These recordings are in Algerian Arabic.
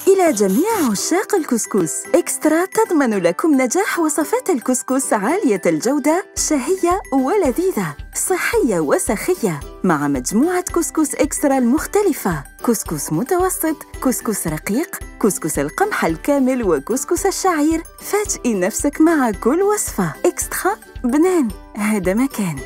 إلى جميع عشاق الكسكس، إكسترا تضمن لكم نجاح وصفات الكسكس عالية الجودة، شهية ولذيذة، صحية وسخية، مع مجموعة كسكس إكسترا المختلفة: كسكس متوسط، كسكس رقيق، كسكس القمح الكامل، وكسكس الشعير. فاجئي نفسك مع كل وصفة. إكسترا بنان، هذا مكان.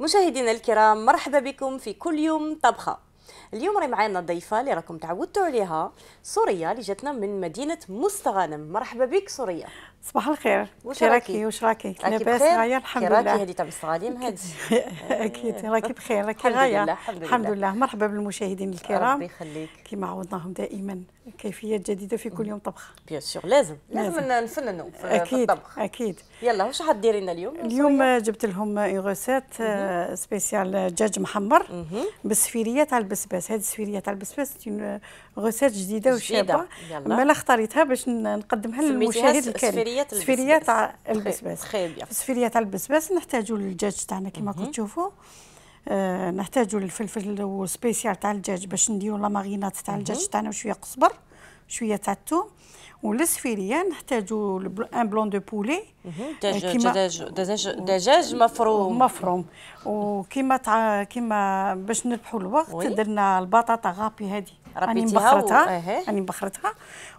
مشاهدينا الكرام، مرحبا بكم في كل يوم طبخه. اليوم راهي معنا ضيفه اللي راكم تعودتوا عليها، سوريا، اللي جاتنا من مدينه مستغانم. مرحبا بك سوريا. صباح الخير. واش راكي؟ واش راكي؟ لاباس غايه الحمد لله. راكي هذه تاع مستغانم هذه؟ اكيد راكي بخير، راكي الحمد غايه. لله الحمد لله. مرحبا بالمشاهدين الكرام. ربي يخليك. كما عودناهم دائما كيفيات جديده في كل يوم طبخ. بيان سور، لازم نفننوا في الطبخ. اكيد. يلا واش حديري لنا اليوم؟ اليوم جبت لهم غوسيت سبيسيال دجاج محمر بالسفيريه تاع البسباس. هذه السفيريه تاع البسباس غوسيت جديده وشابه، مالا اختاريتها باش نقدمها للمشاهد الكريم. السفيريه تاع البسباس. في السفيريه تاع البسباس نحتاجوا الدجاج تاعنا كما كنتم تشوفوا. نحتاجوا الفلفل والسبيسيال تاع الدجاج باش نديروا لا مارينات تاع الدجاج تاعنا، وشويه قزبر، شويه تاع الثوم. وللسفيريه نحتاجوا ان بلون دو بولي، دجاج مفروم. وكيما باش نربحوا الوقت درنا البطاطا غابي هذه راني مبخرتها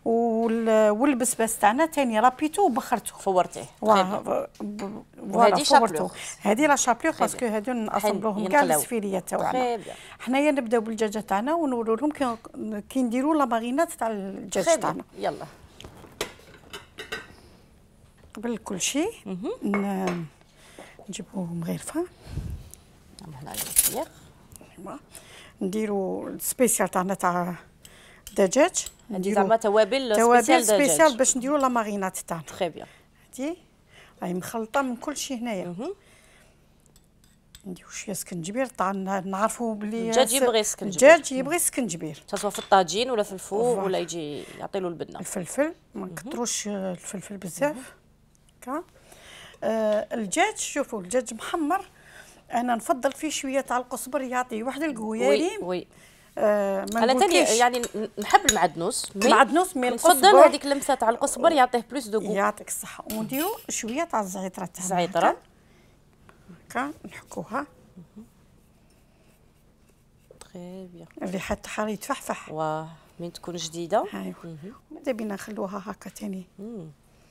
والبسباس تاعنا ثاني رابيتو وبخرته فورتيه. وهذه شابلوغ، هذه لا شابلوغ باسكو هادو نأصبلوهم كاع السفيريه تاعنا. حنايا نبداو بالدجاجه تاعنا ونورو لهم كي نديروا لا مارينات تاع الدجاج تاعنا. يلا قبل كل شيء نجيبوا مغرفه هنا الفيخ، نديروا السبيسيال تاعنا تاع الدجاج. نديروا زعما توابل سبيسيال باش نديروا لا مارينات تاعنا. تري بيان. هادي راهي مخلطه من كل شيء هنايا. نديروا شويه سكنجبير. طبعا نعرفوا بلي الدجاج يبغي سكنجبير، سواء في الطاجين ولا في الفوق ولا يجي يعطي له البنه. الفلفل ما نكثروش الفلفل بزاف. هكا الدجاج، شوفوا الدجاج محمر انا نفضل فيه شويه تاع القزبر، يعطي واحد القوياري. وي انا ثاني يعني نحب المعدنوس، مي نفضل هذيك اللمسه تاع القزبر يعطيه بلوس دو غو. يعطيك الصحه. ونديروا شويه تاع الزعتره تاعنا. الزعتره هكا نحكوها. تري بيان. الريحه تاعها يتفحفح. واه من تكون جديده. ايوا ماذا بينا نخلوها هكا ثاني.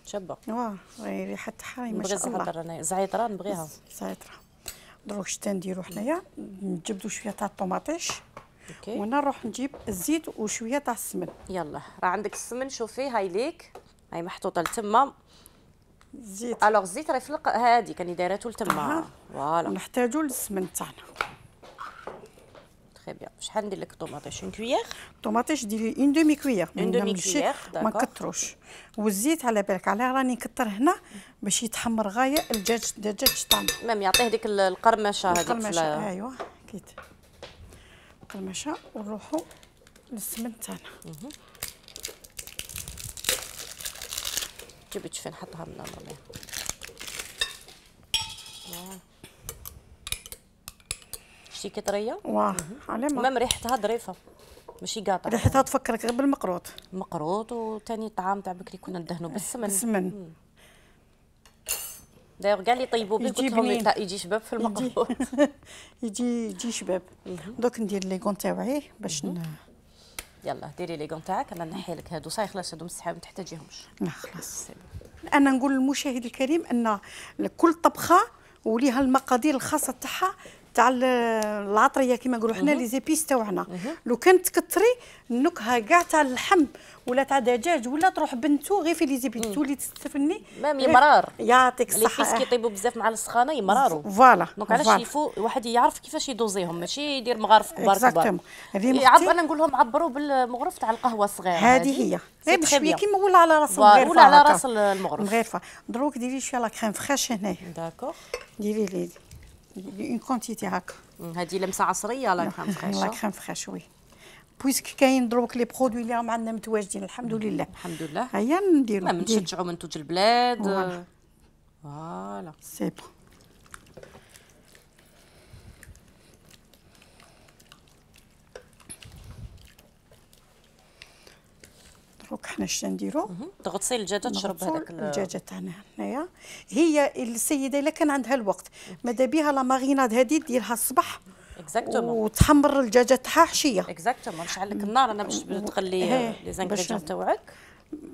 شابه. واه ريحه تاعها ما شاء الله. الزعتره نبغيها. الزعتره دروك شتا نديرو حنايا. نجبدوا شويه تاع الطوماطيش. وانا نروح نجيب الزيت وشويه تاع السمن. يلا راه عندك السمن، شوفي هاي ليك، هاي محطوطه لتما. الزيت الزيت راهي في هادي كاني دايراتو لتما. فوالا نحتاجوا للسمن تاعنا. تري بيان. شحال ندير لك الطوماطيش؟ اون كويير. الطوماطيش ديري اون دومي كويير. داكور. ما نكثروش. والزيت على بالك علاه راني نكثر هنا باش يتحمر غايه الدجاج تاعنا. مام يعطيه ديك القرمشه هذيك. القرمشه ايوا كيت القرمشه. ونروحوا للسمن تاعنا. جبت فين نحطها من هنا. شتي كطريه. واه على ما مام ريحتها ظريفه ماشي قاطعه. ريحتها تفكرك غير بالمقروط. وثاني الطعام تاع بكري كنا ندهنوا بالسمن. دايوغ كاع اللي طيبوا به قلت لهم يجي شباب في المقروط. يجي شباب. دوك ندير ليغون تاوعي باش يلا ديري ليغون تاعك. انا نحي لك هادو صاي خلاص، هادو مسحاب ما تحتاجيهمش. لا خلاص. انا نقول للمشاهد الكريم ان كل طبخه وليها المقادير الخاصه تاعها تاع العطريه كيما نقولوا حنا لي زيبيس تاعنا. لو كان تكثري النكهه كاع تاع اللحم ولا تاع دجاج ولا تروح بنتو غير في لي زيبيس تولي تستفني مام يمرار. يعطيك الصحه. لي فيس كيطيبوا بزاف مع السخانه يمراروا. فوالا دونك علاش يفو الواحد يعرف كيفاش يدوزيهم، ماشي يدير مغارف كبار كبار. انا نقول لهم عبروا بالمغرف تاع القهوه الصغير. هذه هي بشويه كيما ولا على راس المغرفه ولا على راس المغرفه. دروك ديري شويه لا كريم فريش هنايا. داكور. ديري لي اون كونتيتي هكا. هذه لمسه عصريه لا كريم فريش. لا كريم فريش وي. بويسك كاين دروك لي برودوي اللي راهم عندنا متواجدين الحمد لله. الحمد لله. هيا نديرو. نشجعوا منتوج البلاد. فوالا. سي بون. دروك حنا اش نديرو؟ تغطسي الدجاجه تشرب هذاك الدجاجه تاعنا هنايا. هي السيده الا كان عندها الوقت ماذا بها لا ماريناد هذه ديرها الصباح. اكزاكتومون. وتحمر الدجاجه تاعها عشيه. اكزاكتومون. نشعل لك النار انا باش تخلي لي زانغريديون تاعك.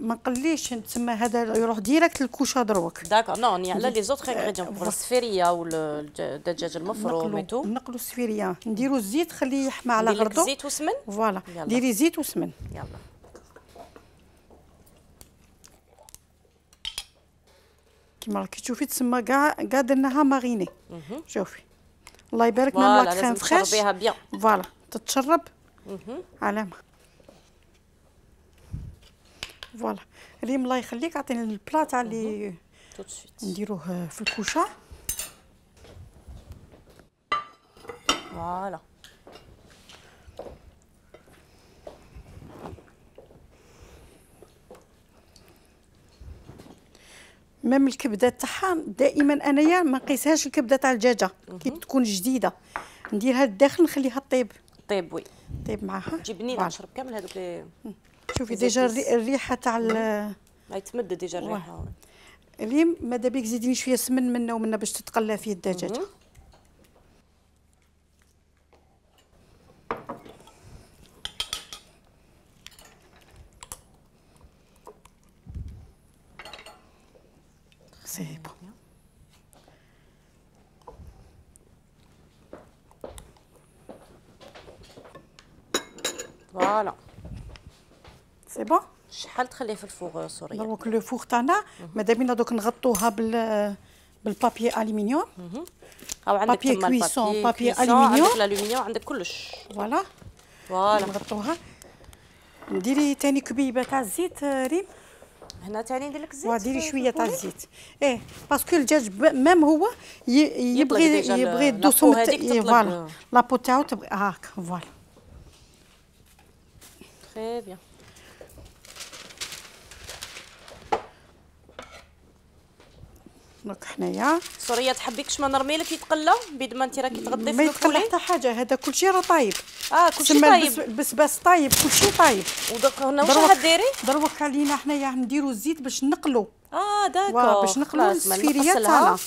ما نقليش تسمى هذا يروح ديريكت للكوشه دروك. داكور نو ني على لي زوتر انغريديون بور السفيريه والدجاج المفروم ميتو. نقلوا السفيريه نديروا الزيت خليه يحمى على غردو. زيت وسمن. فوالا ديري زيت وسمن. يلا. كيما راكي تشوفي تسمى كاع درناها ماريني. شوفي الله يبارك لنا لا كريم فريش. تشربيها بيان. فوالا تتشرب علامه. فوالا ريم الله يخليك عطيني البلا تاع اللي نديروه في الكوشه. فوالا ميم الكبده تاعها دائما انايا ما نقيسهاش الكبده تاع الدجاجه كي تكون جديده نديرها للداخل نخليها طيب. طيب وي طيب معاها. جبني نشرب كامل هذوك لي. شوفي ديجا الريحه تاع ما يتمد ديجا الريحه. ريم ماذا بيك زيديني شويه سمن منا ومنا باش تتقلى فيه الدجاجه. سي بون. فوالا سي بون. شحال تخليه في الفوغ سوريا؟ دروك لو فوغ تاعنا ماذا بينا دوك نغطوها بالبابي الومنيوم. او عندك بابي كويسون بابي الومنيوم. عندك الالومنيوم عندك كلش. فوالا نغطوها. نديري ثاني كبيبه تاع الزيت ريم. هنا ثاني ندير لك الزيت. وديري شويه تاع الزيت. باسكو الدجاج ميم هو يبغي دوسو. فوالا لابو تاعو تبغي هاكا. فوالا تري بيان. دونك حنايا سوريا تحبي كش ما نرمي لك يتقلى بيد ما انت راكي تغدي في ما يتقلى حتى حاجه. هذا كلشي راه طايب. كلشي طايب. البسباس طايب كلشي طايب. ودوك هنا واش راح ديري؟ دروك علينا حنايا نديروا الزيت باش نقلوا. داكور باش نقلوا السفيريه تاعنا.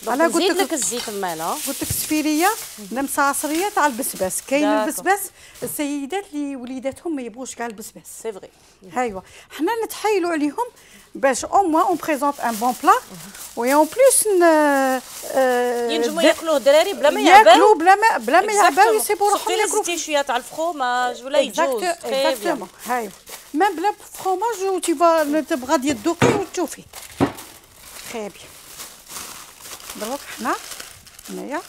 انا قلت لك الزيت مالها. قلت لك السفيريه لمسه عصريه تاع البسباس. كاين البسباس السيدات اللي وليداتهم ما يبغوش كاع البسباس. سي فري. ايوا حنا نتحايلوا عليهم باش او موان اون بريزونط ان بون بلا و اون بليس ينجموا ياكلوه الدراري بلا ما يعباو. ياكلوا بلا ما يعباو يسيبوا روحهم ياكلوا. زيتي شويه تاع الفرomage ولا يجوز. اكزاكتومون. هاي ميم بلا فرomage و تي فا تبغى غادي تذوقي وتشوفي. تري بيان. دروك حنا هنايا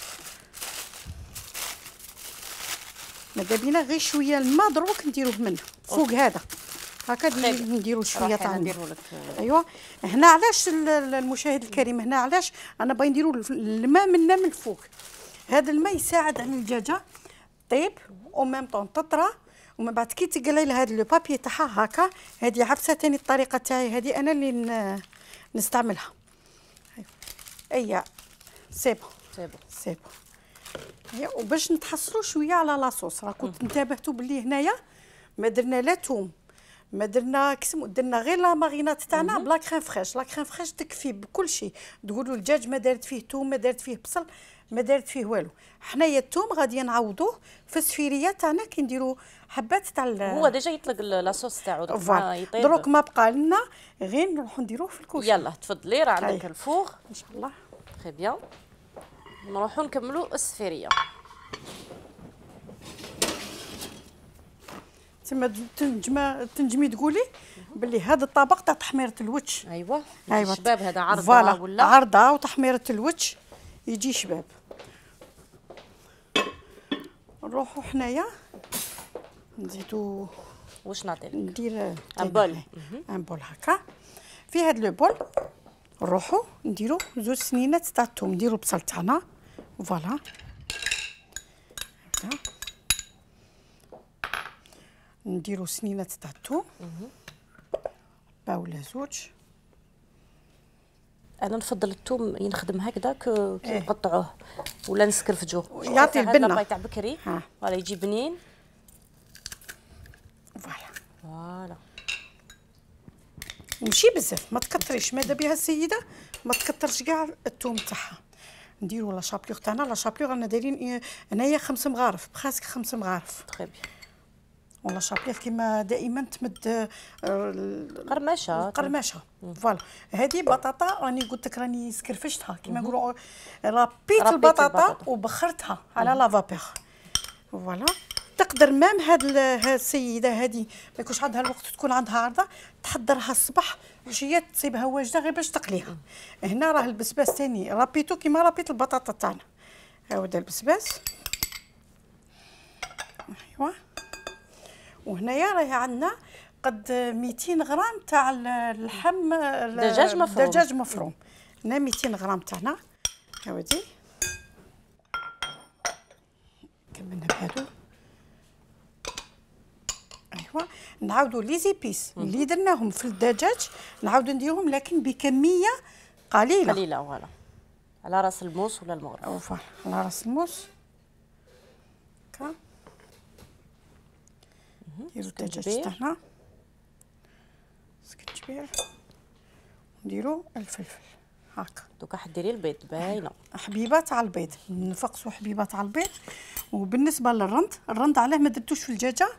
ماذا بينا غير شويه الماء دروك نديروه منه فوق هذا هكا نديروا شويه تاع الماء. ايوا هنا علاش المشاهد الكريم هنا علاش انا باغي نديروا الماء منا من الفوق. هذا الماء يساعد على الدجاجه طيب او ميم طون تطرى ومن بعد كي تقلي لها هذا لو بابي تاعها هكا. هذه عفسه ثاني الطريقه تاعي هذه انا اللي نستعملها. ايوا سي بون سي بون سي بون. وباش نتحصلوا شويه على لاصوص راه كنت انتبهتوا باللي هنايا ما درنا لا توم ما درنا درنا غير لا مارينات تاعنا بلا كريم فريش. لا كريم فريش تكفي بكل شيء. تقولوا الدجاج ما دارت فيه توم ما دارت فيه بصل ما دارت فيه والو. حنايا الثوم غادي نعوضوه في السفيريه تاعنا كي نديروا حبات تاع هو ديجا يطلق لاصوص تاعو يطيب. دروك ما بقى لنا غير نروحوا نديروه في الكوشه. يلا تفضلي راه عندك الفوغ ان شاء الله. تري بيان. نروحوا نكملوا السفيريه. تما تنجمي تقولي باللي هذا الطبق تاع تحميره الوجه. ايوا الشباب هذا عرضه ولا عرضه وتحميره الوجه يجي شباب. نروحوا حنايا نزيدو واش نعطيلك؟ ندير امبول هكا. في هذا لو بول نروحوا نديرو 2 سنينات تاع الثوم، نديرو البصل تاعنا فوالا هكا، نديرو سنينات تاع الثوم با ولا 2. انا نفضل الثوم ينخدم هكذا كي نقطعوه ولا نسكرفجوه، يعطي البنه تاع بكري ولا يجي بنين فوالا. ومشي بزاف، ما تكثريش، ماذا بها السيده ما تكثرش كاع الثوم تاعها. نديرو لا شابلور تاعنا، لا شابلور رانا دايرين هنايا 5 مغارف، بخاسك 5 مغارف. تري بيان. ولا شابلور كيما دائما تمد قرماشه فوالا. هذه بطاطا راني قلت لك راني سكرفشتها كيما نقولوا، ربيت البطاطا وبخرتها على لا فابور فوالا. تقدر مام هاد السيده هذه ما يكونش عندها الوقت، تكون عندها عرضه تحضرها الصباح عشيه تصيبها واجده غير باش تقليها. هنا راه البسباس ثاني رابيتو كيما رابيت البطاطا تاعنا. ها هو البسباس ايوا. وهنايا راهي عندنا قد 200 غرام تاع اللحم دجاج مفروم. هنا 200 غرام تاعنا هاودي كملنا بهادو. ايوا نعاودوا لي زيبيس اللي درناهم في الدجاج نعاودوا نديرهم لكن بكميه قليله فوالا، على راس الموس ولا المغرف فوالا على راس الموس هكا. نديرو الدجاج تاعنا سكنجبير، نديرو الفلفل هكا. دوكا حديري البيض باينه حبيبه تاع البيض، نفقسوا حبيبه تاع البيض. وبالنسبه للرند علاه ما درتوش في الدجاجه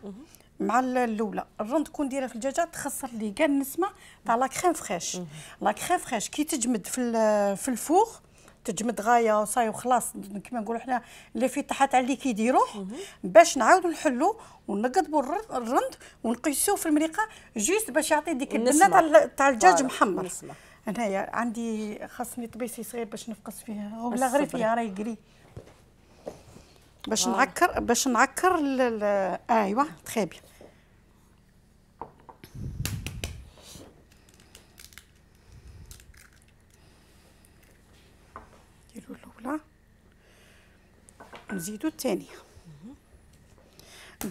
مع الاولى. الرند كون دايره في الدجاجه تخسر لي كاع النسمه تاع لا كريم فريش. لا كريم فريش كي تجمد في الفوغ تجمد غايه وصاي وخلاص كيما نقولوا حنا اللي في تحت على اللي كيديروه، باش نعاودوا نحلو ونقضبوا الرند ونقيسوه في المريقه جوست باش يعطي ديك البنه تاع الدجاج محمر. انايا عندي خاصني طبيسي صغير باش نفقس فيه ولا غير فيها راهي قري باش نعكر ايوا تري بيان. نديرو الاولى نزيدو الثانيه.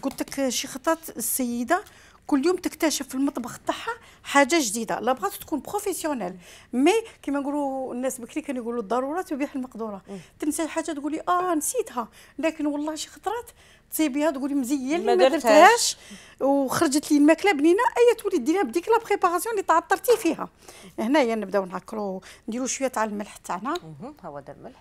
قلت لك شي خطات السيده كل يوم تكتشف في المطبخ تاعها حاجه جديده، لا بغات تكون بروفيسيونيل مي كيما نقولوا الناس بكري كانوا يقولوا الضروره تبيح المقدوره. تنسى حاجه تقولي نسيتها، لكن والله شي خطرات تصيبيها تقولي مزيان ما درتهاش وخرجت لي الماكله بنينه، تولي ديريها بديك لا بريباراسيون اللي تعطرتي فيها. هنايا نبداو نعكروا نديروا شويه تاع الملح تاعنا. ها هو دا الملح.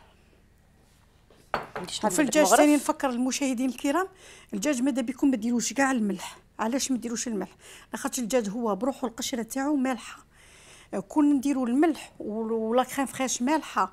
وفي الدجاج ثاني نفكر المشاهدين الكرام، الدجاج ماذا بكم ما ديروش كاع الملح. علاش ما ديروش الملح؟ لاخاطش الدجاج هو بروحو القشره تاعو مالحه. كون نديروا الملح ولا كريم فريش مالحه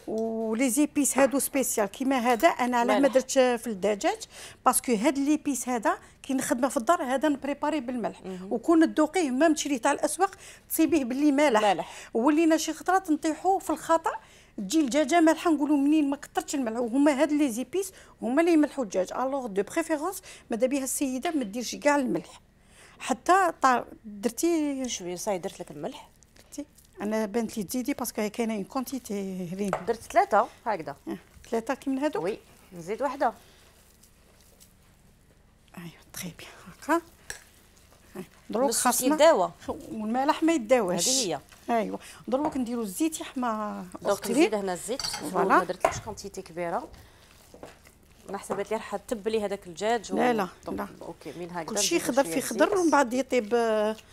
ولي زيبيس هادو سبيسيال كيما هذا، انا علاه ما درتش في الدجاج باسكو هاد لي بيس هذا كي نخدمه في الدار هذا نبريباري بالملح. وكون تذوقيه ما تشريه تاع الاسواق تصيبيه باللي مالح. ولينا شي خطرات نطيحوا في الخطا تجي الدجاجه مالحه نقولوا منين ما كثرتش الملح، وهما هاد لي زيبيس هما اللي يملحوا الدجاج. الوغ دو بريفيرونس ماذا بها السيده ما ديرش كاع الملح. حتى درتي شويه صاي درت لك الملح. درتي انا بانت لي تزيدي باسكو كاينه اون كونتيتي هذين. درت 3 هكذا 3 كي من هادو. وي نزيد وحده. ايوا تري بيان هكا. دروك خاصنا يداوى والملح ما يداواش. هذه هي. ايوا دروك نديروا الزيت يحمى. دونك نزيد هنا الزيت ما درتلوش كونتيتي كبيره. انا حسبت لي راح تبلي هذاك الدجاج لا اوكي من هكذا كلشي خضر في خضر ومن بعد يطيب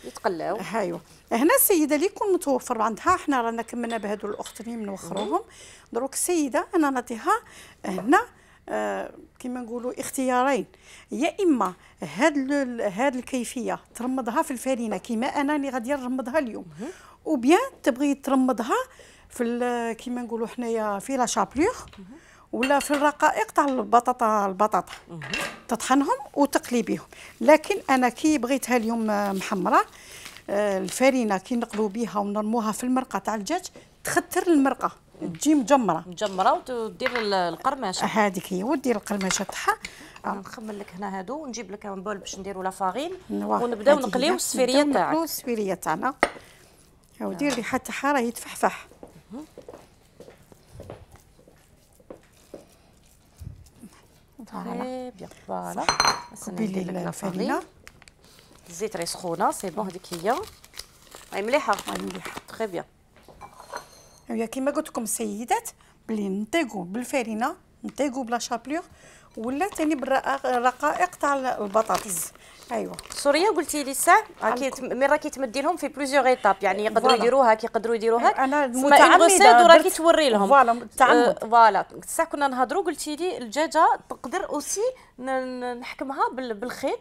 يتقلاو. ايوا هنا السيده اللي يكون متوفر عندها، حنا رانا كملنا بهادو الاخرين نوخروهم. دروك السيده انا نعطيها هنا كيما نقولوا اختيارين، يا اما هاد الكيفيه ترمضها في الفرينه كيما انا اللي غادي نرمضها اليوم، وبيان تبغي ترمضها في كيما نقولوا حنايا في لا شابلور ولا في الرقائق تاع البطاطا تطحنهم وتقلي بهم. لكن انا كي بغيتها اليوم محمره، الفرينه كي نقلو بها ونرموها في المرقه تاع الدجاج تختر المرقه تجي مجمره ودير القرماشه هذيك هي، ودير القرماشه تاعها. نخمم لك هنا هادو ونجيب لك بول باش نديروا لا فارين ونبداو نقليو السفيريه تاعك. نقليو السفيريه تاعنا ودير ريحه تاعها راهي تفحفح. تري بيان فوالا. كبي لي الفرينه، الزيت راهي سخونه سي بون. هذيك هي راهي مليحه تري بيان. هي كيما قلت لكم السيدات بلي نطيقوا بالفرينه، نطيقوا بلا شابلور، ولا ثاني بالرقائق تاع البطاطس. ايوا سوريا قلتي لي الساعه مي راكي تمدي لهم في بليزيور ايتاب، يعني يقدروا يديروها كي يقدروا يديروها. انا متعمده وراكي توري لهم فوالا متعمد. فوالا الساعه كنا نهضروا قلتي لي الدجاجه تقدر اوسي نحكمها بالخيط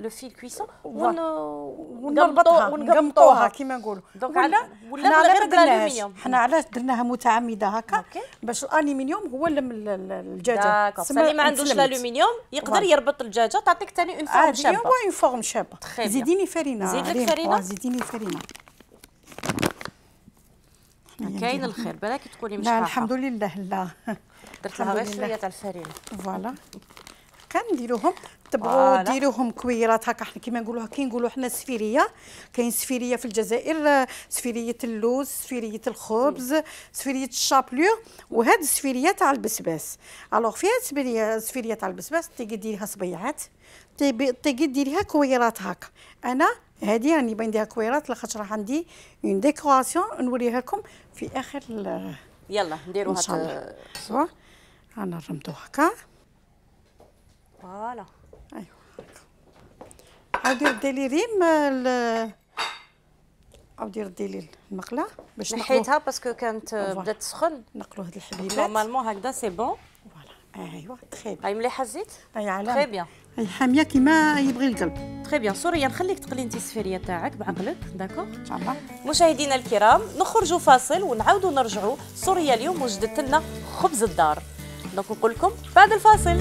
لو فيل كويسون ونقمطوها كيما نقولوا. ولا غير بالالومنيوم. حنا علاش درناها متعمده هكا باش الالومنيوم هو اللي الدجاجه. اللي ما عندوش الالومنيوم يقدر يربط الدجاجه تعطيك ثاني اون فورم شابه. هو اون فورم شابه. زيديني فرينه. زيد لك فرينه. زيديني فرينه. كاين الخير بالك تكوني مش لا الحمد لله. لا درت لها غير شويه تاع الفرينه. فوالا كنديروهم تبغوا ديروهم كويرات هكا كيما نقولوها. كي نقولوا حنا السفيريه، كاين سفيريه في الجزائر، سفيريه اللوز، سفيريه الخبز، سفيريه الشابلور، وهاد السفيريه تاع البسباس. الوغ في هاد السفيريه تاع البسباس تيجي ديريها صبيعات، تيجي ديريها كويرات هكا. انا هادي راني بانديها كويرات لاخاطش راه عندي اون ديكوراسيون نوريها لكم في اخر. يلا نديروها سوا. انا رمتو هكا فوالا. ايوا عاودي ردي لي ريم عاودي ردي لي المقله باش نحيتها باسكو كانت بدات تسخن. نقلوا هاد الحبيبات نورمالمون هكذا سي بون. فوالا ايوا تري هاي مليحه الزيت. تري بيان. هاي حاميه كيما يبغي القلب. تري بيان. سوريا نخليك تقلي انت السفيريه تاعك بعقلك. داكور ان شاء الله. مشاهدينا الكرام نخرجوا فاصل ونعاودوا نرجعوا. سوريا اليوم وجدت لنا خبز الدار، دونك نقول لكم بعد الفاصل.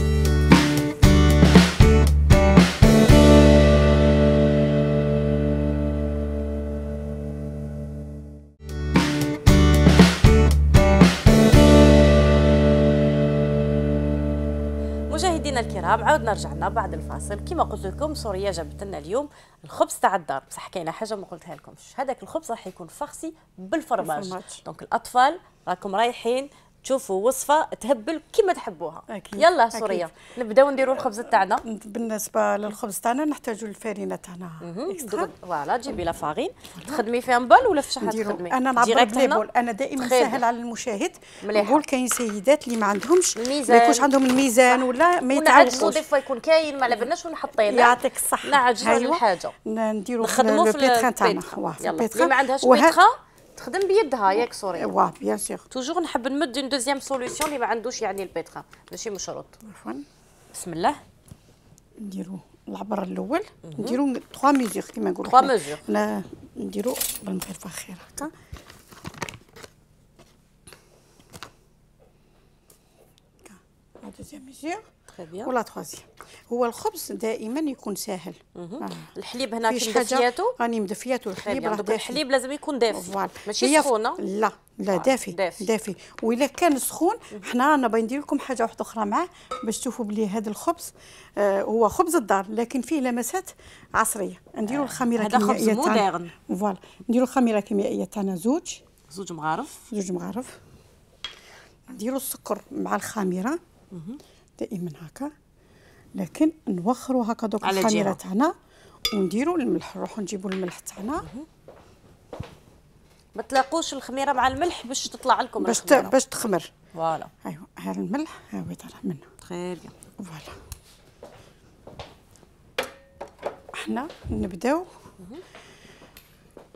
مشاهدينا الكرام عاودنا رجعنا بعد الفاصل. كما قلت لكم سوريا جابت لنا اليوم الخبز تاع الدار، بصح كاينه حاجه ما قلتها لكمش. هذاك الخبز راح يكون فارسي بالفرماج. دونك الاطفال راكم رايحين تشوفوا وصفه تهبل كما تحبوها. أكيد. يلا سوريا نبداو نديروا الخبز تاعنا. بالنسبه للخبز تاعنا نحتاجوا الفرينه تاعنا فوالا. جيبي لا فارين تخدمي فيها بول ولا في شحال تخدمي؟ انا نعبر بلي بول. انا دائما سهل على المشاهد. نقول كاين سيدات اللي ما عندهمش ما يكونش عندهم الميزان ولا ما يتعلموش. دي فوا يكون كاين ما على بالناش ونحطينا. يعطيك الصحه. نعجزوا على الحاجه نديروا نخدموا في البيتران تاعنا. اللي ما عندهاش بيتران تخدم بيدها ياك سوريا. واه بيان سور. توجور نحب نمد اون دوزيام سوليسيون اللي ما عندوش يعني البيتران ماشي مشروط. بسم الله. نديروا العبر الاول نديروا 3 ميزور كيما نقولوا 3 ميزور. لا نديروا بالمغرفه خير هكا. لا دوزيام ميزور ولا تخوازيام. هو الخبز دائما يكون ساهل. الحليب هنا كي مدفياتو راني مدفياتو. الحليب راه دافي. الحليب لازم يكون دافي ماشي سخونه. لا دافي. واذا كان سخون حنا انا باغي ندير لكم حاجه واحده اخرى معاه باش تشوفوا بلي هذا الخبز هو خبز الدار لكن فيه لمسات عصريه. نديروا الخميره الكيميائيه تاعنا. فوالا نديروا الخميره الكيميائيه تاعنا زوج مغارف. نديروا السكر مع الخميره دائما هكا، لكن نوخروا هكا دوك الخميره تاعنا ونديروا الملح. نروحوا نجيبوا الملح تاعنا. ما تلاقوش الخميره مع الملح باش تطلع لكم باش تخمر. فوالا. ايوا ها الملح ها هو طالع منه. تري بيان. فوالا. احنا نبداو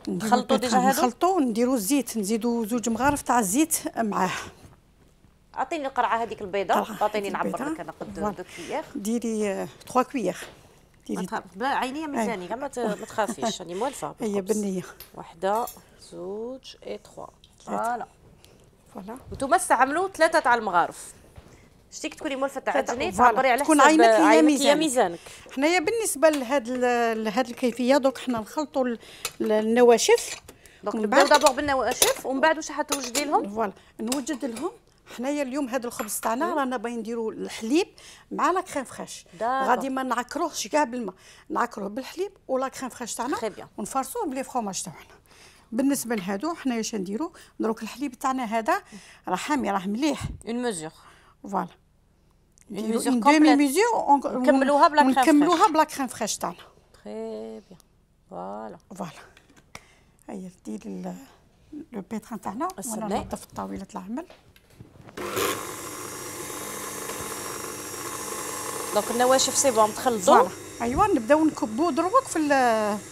نخلطوا ديجا هادو. نخلطوا نديروا الزيت. نزيدوا 2 مغارف تاع الزيت معاه. اعطيني القرعه هذيك البيضه. اعطيني نعبر لك انا قد 2 كويير. ديري 3 كويير. ديري عينيه ميزاني كاع ما تخافيش راني موالفه. هي بالنيه. 1 2 3 فوالا. فوالا. نتوما استعملوا 3 تاع المغارف. شتيك تكوني مولفه تعجني تعبري على تكون حسب عينك هي ميزانك. حنايا بالنسبه لهاد الكيفيه دوك حنا نخلطوا النواشف. دونك نبداو دابور بالنواشف ومن بعد واش حتوجدي لهم؟ فوالا نوجد لهم. حنايا اليوم هذا الخبز تاعنا رانا باغيين نديروا الحليب مع لا كريم فريش. غادي ما نعكروهش كاع بالماء، نعكروه بالحليب ولا كريم فريش تاعنا ونفرصوه بلي فروماج تاعنا. بالنسبه لهادو حنايا اش نديروا؟ دروك الحليب تاعنا هذا راه حامي راه مليح. اون ميزور. فوالا. اون ميزور كومبليت. نكملوها بلا كريم فريش. نكملوها بلا كريم فريش تاعنا. تري بيان. فوالا. فوالا. هيا ديري لو بيتران تاعنا وانا ننظف طاوله العمل. دونك النواشف سي بون تخلطوا. ايوا نبداو نكبوا دروك في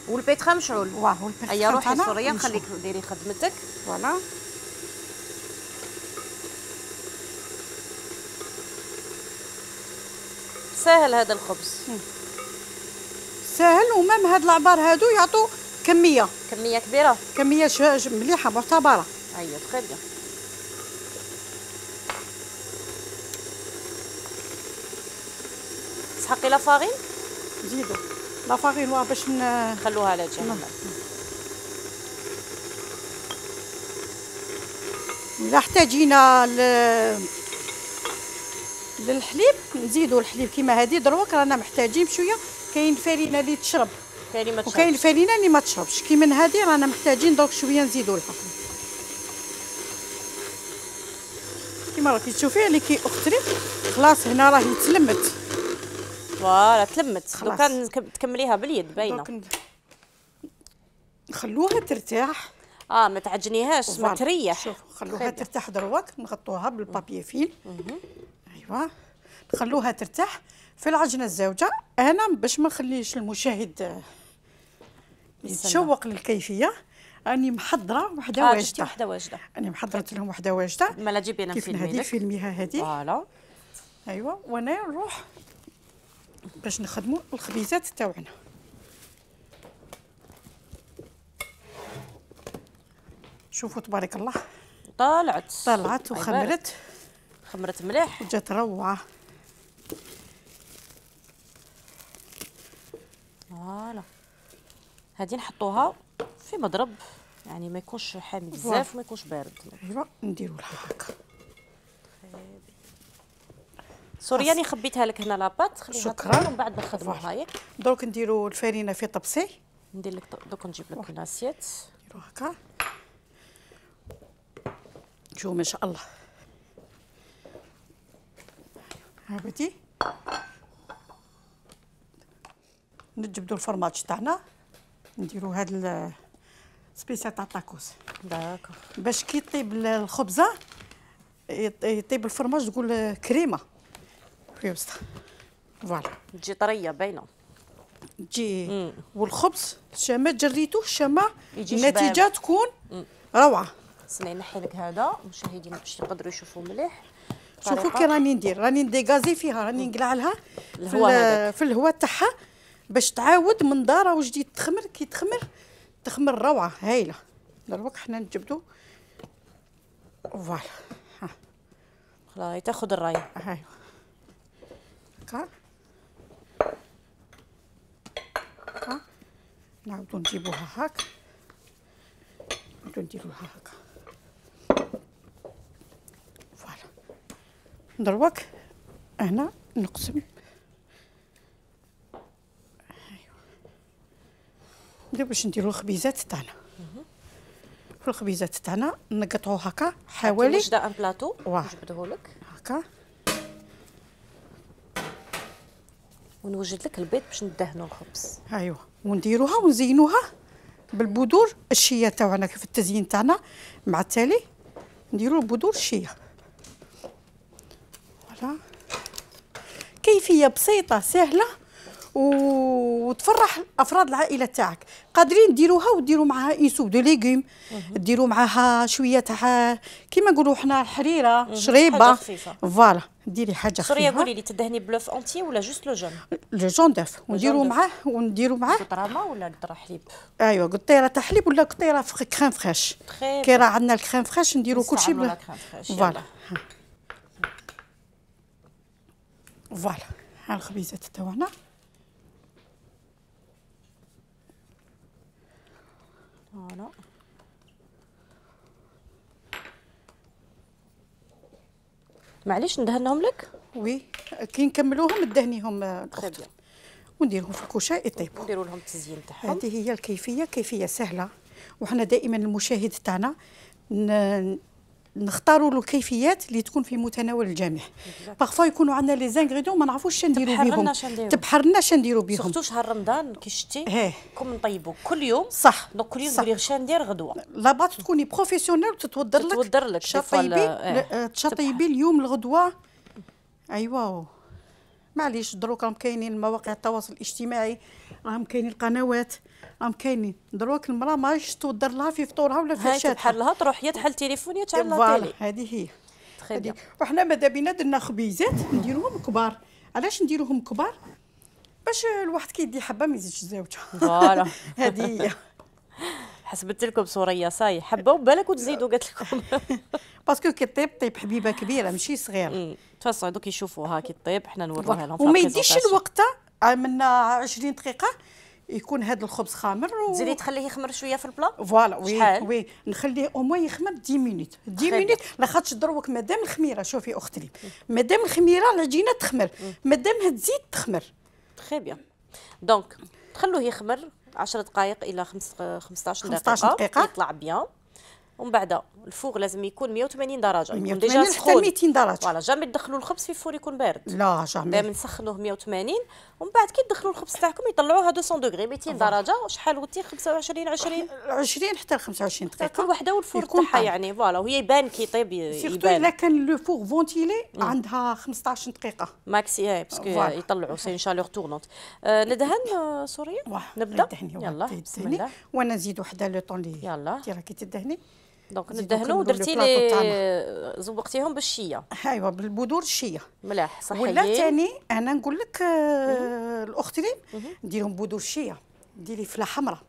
والبيترا مشعول. والبيترا. هيا روحي سوريا نخليك ديري خدمتك. فوالا. ساهل هذا الخبز. ساهل ومام هاد العبار هادو يعطوا كميه كبيره. كميه مليحه معتبره. ايوا تري بيان. تسحقي لا فارين؟ زيدوا لا فارين باش نخلوها على جنب. الا احتاجينا للحليب نزيدوا الحليب كيما هذه دروك رانا محتاجين بشويه. كاين فرينه اللي تشرب وكاين الفرينه اللي ما تشربش. كيما هذه رانا محتاجين دوك شويه نزيدوا لها. كيما راكي تشوفي اللي كي اختري خلاص هنا راهي تلمت. فوالا تلمت. دوكا تكمليها باليد باينه. نخلوها ترتاح. ما تعجنيهاش ما تريح. شوف خلوها ترتاح دروك نغطوها بالبابي فيل. ايوا نخلوها ترتاح في العجنه الزوجه. انا باش ما نخليش المشاهد يتشوق للكيفيه راني محضره وحده واجده. انا محضرت لهم وحده واجده. مالا جيبي انا نفيلمي لك. فيلميها هذه. فوالا. ايوا وانا نروح باش نخدموا الخبيزات تاعنا. شوفوا تبارك الله طلعت وخمرت. خمرت مليح وجات روعه. فوالا. هادي نحطوها في مضرب يعني ما يكونش حامي بزاف وما يكونش بارد. ايوا نديروا لها هكا. سورياني خبيتها لك هنا لاباط خليها شكرا. ومن بعد نخدموها هايك. دروك نديروا الفرينه في طبسي. ندير لك دوك نجيب لك الاسيات. نديروا هكا. شوف ما شاء الله. هابتي نجبدوا الفرماج تاعنا نديروا هاد سبيسيال تاع الطاكوس. داكوغ. باش كي طيب الخبزه يطيب الفرماج تقول كريمه في وسطها. فوالا تجي طريه باينه. تجي والخبز شما جريتوه شما النتيجه تكون روعه. سني نحي لك هذا المشاهدين باش يقدروا يشوفوا مليح. شوفوا كي راني ندير راني نديغازي فيها راني نقلع لها في الهواء تاعها باش تعاود من دار وجديد تخمر. كي تخمر روعه هايله. دروك حنا نجبدو. فوالا خلاص تاخذ الرايه. ايوا هكا نعاودو نجيبوها هاك. نعاودو نديروها هكا. فوالا دروك هنا نقسم. ايوا باش نديرو الخبيزات تاعنا. في الخبيزات تاعنا نقطعو هكا حوالي وجده ان بلاطو نجبدهولك هكا. ونوجد لك البيض باش ندهنوا الخبز. ايوا ونديروها ونزينوها بالبذور الشيه تاعنا. في التزيين تاعنا مع التالي نديرو البذور الشيه. فوالا كيفيه بسيطه سهله وتفرح افراد العائله تاعك. قادرين ديروها وديروا معها اون سوب دو ليغوم، ديروا معها شويه تاع كيما نقولوا حنا الحريره، شريبه، فوالا ديري حاجه خفيفه. سوريا قولي لي تدهني بلوف انتي ولا جوست لو جون؟ لو جون دوف، ونديروا معاه قطره ما ولا قطره حليب؟ ايوا قطيره تاع حليب ولا قطيره كريم فريش. كي راه عندنا الكريم فريش نديروا كلشي فوالا. فوالا ها الخبيزات تاعنا. فوالا معليش ندهنهم لك؟ وي كي نكملوهم ندهنيهم ونديرهم في الكوشه يطيبوا. نديروا لهم التزيين تاعهم. هذه هي الكيفيه، كيفيه سهله، وحنا دائما المشاهد تاعنا نختاروا له الكيفيات اللي تكون في متناول الجميع. بارفو يكونوا عندنا لي زانغريديون ما نعرفوش شنو نديروا بهم، تبحرنا شنو نديروا بهم. سورتو شهر رمضان كي شتي كون نطيبوا كل يوم. صح. دونك كل يوم تقولي شنو ندير غدوه. لاباط تكوني بروفيسيونيل وتتودر لك تطيبي اليوم الغدوه. ايوا معليش دروك راهم كاينين مواقع التواصل الاجتماعي، راهم كاينين القنوات، راهم كاينين دروك المراه ماهيش تودر لها في فطورها ولا في عشاتها. تبحر لها تروح يا تحل تليفون يا تعمل لها تيلي. هذه هي. وحنا ماذا بينا درنا خبيزات نديروهم كبار. علاش نديروهم كبار؟ باش الواحد كي يدي حبه ما يزيدش زوجه. فوالا هذه هي. حسبت لكم سوريا صاي حبه وبالك وتزيدوا قالت لكم. باسكو كي طيب حبيبه كبيره ماشي صغيره. تفصلوا دوك يشوفوها كي طيب حنا نوروها لهم. وما يديش الوقت من 20 دقيقه يكون هذا الخبز خامر تزيدي تخليه يخمر شويه في البلا. فوالا وي نخليه او موان يخمر 10 مينوت. 10 مينوت لاخاطش دروك مادام الخميره. شوفي اختي مادام الخميره العجينه تخمر، مادامها تزيد تخمر. تري بيان. دونك تخلوه يخمر 10 دقائق الى 15 دقيقه يطلع بيان. ومن بعد الفوغ لازم يكون 180 درجه، يكون ديجا سخون حتى 200 درجه. فوالا جامي تدخلوا الخبز في فور يكون بارد. لا جامي. دائما نسخنوه 180 ومن بعد كي تدخلوا الخبز تاعكم يطلعوها 200 دوغري 200 درجه. وشحال قلتي 25 20 حتى 25 دقيقه كل وحده والفور تاعها يعني. فوالا وهي يبان كي يطيب سيرتو الا كان لو فور فونتيلي عندها 15 دقيقه ماكسي باسكو يطلعوا سي شالور تورنونت. ندهن سوريا نبدا. يلا بسم الله. وانا نزيد وحده لو طون لي يلا انت راكي تدهني. دونك ندهنوا درتي لي زوقتيهم بالشيه. ايوا بالبذور الشيه ملاح صحيين. ولا ثاني انا نقول لك الاخت ريم نديرهم بذور الشيه، ديري فله حمراء،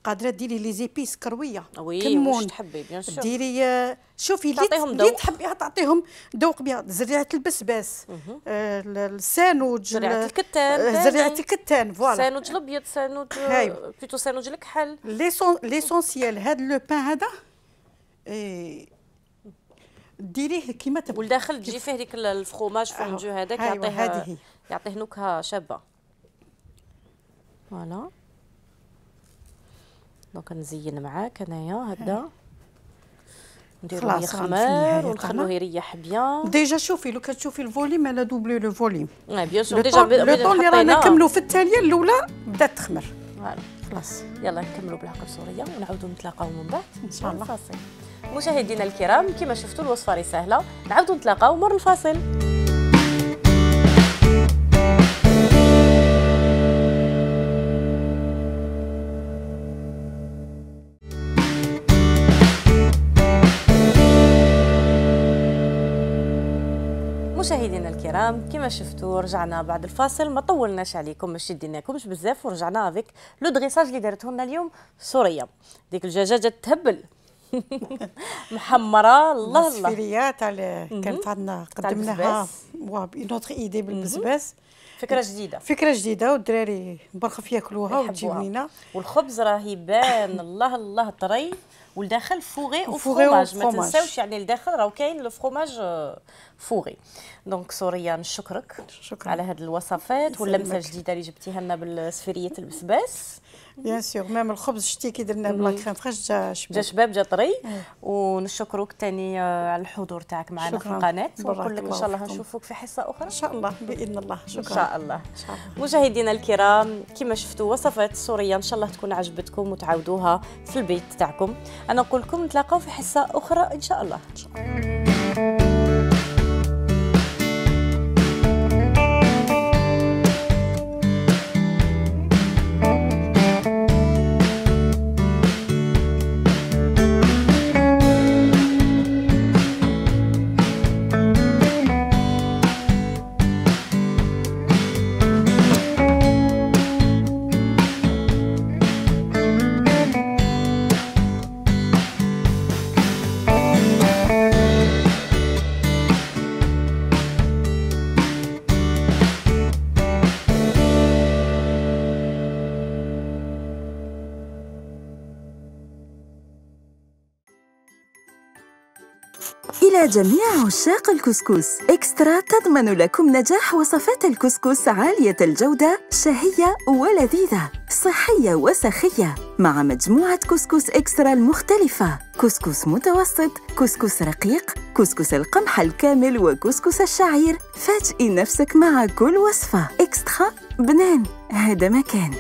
قادره ديري لي زيبيس كرويه كمون تحبي بيان سور ديري شوفي اللي تحبيها تعطيهم ذوق بها. زريعه البسباس، السانوج، زريعه الكتان، زريعه الكتان فوالا، سانوج الابيض، سانوج بلوتو سانوج الكحل. ليسونسيال هذا لو بان هذا ديريه كيما تبغي. والداخل تجي فيه ديك الفخوماج فونجو هذاك يعطيه نكهه شابه. فوالا دونك نزين معاك انايا هكذا نديرو يخمر ونخلوه يريح بيان. ديجا شوفي لو كتشوفي الفوليم انا دوبلي لو فوليم. بيان سور ديجا لو طون اللي رانا نكملوا في الثانيه الاولى بدات تخمر. فوالا خلاص يلا نكملوا بالعقل سوريا ونعاودوا نتلاقاو من بعد ان شاء الله. الفاصل. مشاهدينا الكرام كما شفتوا الوصفه راه سهله، نعاودوا نتلاقاو مر الفاصل. مشاهدينا الكرام كما شفتوا رجعنا بعد الفاصل، ما طولناش عليكم ما شديناكمش بزاف، ورجعنا افيك لو دريساج اللي دارته لنا اليوم سوريا. ديك الدجاجه تهبل محمره الله الله. السفيريات على كانت عندنا قدمناها اون اوتر ايدي بالبسباس. فكره جديده والدراري برخف ياكلوها وتجيبينا. والخبز راه يبان الله الله طري والداخل فوغي وفرomاج. ما تنساوش يعني الداخل راه كاين لو فرomاج فوغي. دونك سوريا نشكرك على هذه الوصفات واللمسه الجديده اللي جبتيها لنا بالسفيريه البسباس. بيان سور ميم الخبز شتي كي درنا بلا كريم فريش جا شباب جا طري. ونشكروك ثاني على الحضور تاعك معنا في القناه، ونقول لك ان شاء الله نشوفوك في حصه اخرى ان شاء الله باذن الله. شكرا ان شاء الله. مشاهدينا الكرام كما شفتوا وصفات سوريا ان شاء الله تكون عجبتكم وتعاودوها في البيت تاعكم. انا نقول لكم نتلاقاو في حصه اخرى ان شاء الله. إلى جميع عشاق الكسكس، إكسترا تضمن لكم نجاح وصفات الكسكس عالية الجودة، شهية ولذيذة، صحية وسخية، مع مجموعة كسكس إكسترا المختلفة: كسكس متوسط، كسكس رقيق، كسكس القمح الكامل، وكسكس الشعير. فاجئي نفسك مع كل وصفة. إكسترا بنان، هذا مكان.